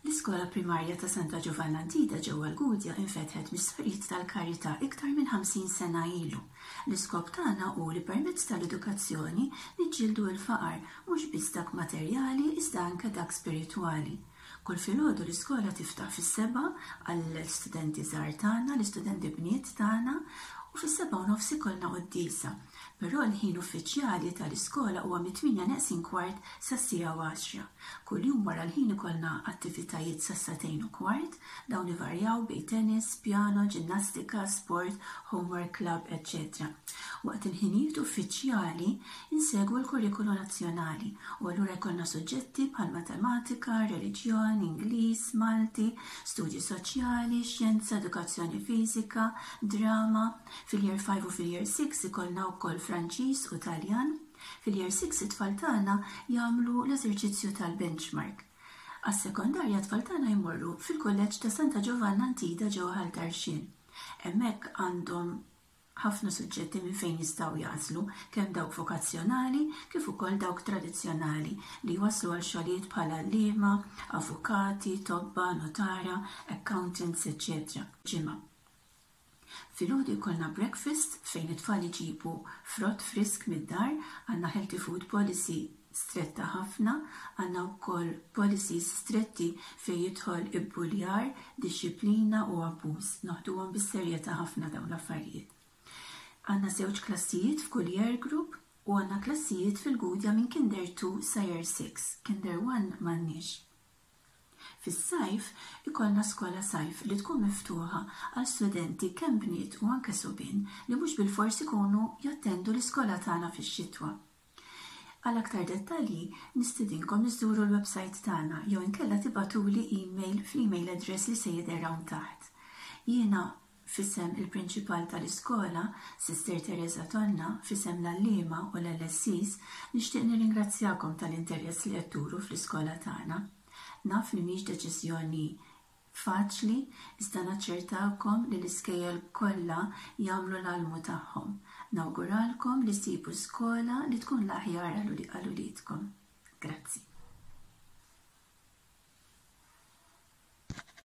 L-Iskola Primarja ta' Santa Ġovanna Antida ġewwa l-Gudja infetħet mis-Sorijiet tal-Karità iktar minn 50 sena ilu. L-iskop tagħna hu li permezz tal-edukazzjoni niġġieldu l-faqar, mhux biss dak materjali iżda anke dak spiritwali. Kull filgħodu l-iskola tiftaħ fis-sebgħa għall-istudenti żgħar tagħna, l-istudenti bniet tagħna, u fis-sebgħa u nofs ikollna quddiesa. Però l-ħin uffiċjali tal-iskola huwa mit-tmienja neqsin kwart sas-siegħa u għaxra. Kuljum wara l-ħin ikollna attivitajiet sas-sagħtejn u kwart, dawn ivarjaw bejn tennis, pjano, ġinnastika, sport, homework club, eċċetera Waqt il-ħinijiet uffiċjali insegwu l-kurrikulu nazzjonali u allura jkollna suġġetti bħal matematika, reliġjon, Ingliż, Malti, studji soċjali, xjenza, edukazzjoni fiżika, drama. Fil-Year 5 u fil-Year 6 ikollna wkoll Franċiż u Taljan. Fil-Year 6 it-tfal tagħna jagħmlu l-eżerċizzju tal-benchmark. Għas-sekondarja t-tfal tagħna jmorru fil-Kulleġġ ta' Santa Ġovanna Antida ġewwa Ħal Tarxien. Hemmhekk għandhom ħafna suġġetti minn fejn jistgħu jagħżlu, kemm dawk vokazzjonali kif ukoll dawk tradizzjonali li jwasslu għal xogħlijiet bħal għalliema, avukati, tobba, nutara, accountants, eċċetera. Ġimgħa. Filgħodu jkollna breakfast fejn it-tfal iġibu frott frisk mid-dar, għandna healthy food policy stretta ħafna, għandna wkoll policies stretti fejn jidħol ibbuljar, dixxiplina u abbuż. Noħduhom bis-serjetà ħafna dawn l-affarijiet. Għandna żewġ klassijiet f'kull year group u għandna klassijiet fil-Gudja minn Kinder 2 sa Year 6, Kinder 1 m'għandniex. Fis-sajf ikollna skola sajf li tkun miftuħa għal studenti kemm bniet u anke subien li mhux bilfors ikunu jattendu l-iskola tagħna fix-xitwa. Għal aktar dettalji nistidinkom iżżuru l-websajt tagħna jew inkella tibagħtuli email fl-email address li se jidher hawn taħt. Jiena f'isem il-Prinċipal tal-iskola, Sister Tereża Tonna, f'isem l-għalliema u l-LSEs, nixtieq nirringrazzjakom tal-interess li qed turu fl-iskola tagħna. Naf li mhix deċiżjoni faċli, iżda naċċertakom li l-iskejjel kollha jagħmlu l-almu tagħhom. Nawguralkom li ssibu skola li tkun l-aħjar għal uliedkom. Grazzi.